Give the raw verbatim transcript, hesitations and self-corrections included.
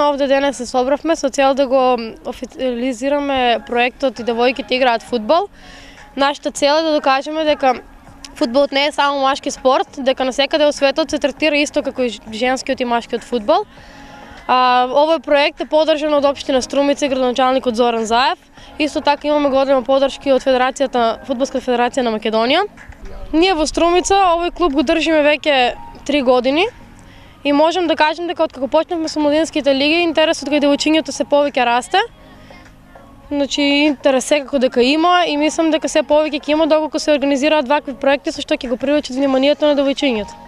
Овде денес се собравме со цел да го официализираме проектот и девојките играат фудбал. Нашата цел е да докажеме дека фудбалот не е само машки спорт, дека насекаде во светот се третира исто како и женскиот и машкиот фудбал. А, овој проект е поддржан од општина Струмица и градоначалникот Зоран Заев. Исто така имаме голема поддршка од Федерацијата, Фудбалска федерација на Македонија. Ние во Струмица овој клуб го држиме веќе три години. И можам да кажем дека откако почнавме со младинските лиги, интересот кај девојчињата се повеќе расте. Значи интерес секако дека има и мислам дека се повеќе ќе има доколку се организираат вакви проекти со што ќе го привлечат вниманието на девојчињата.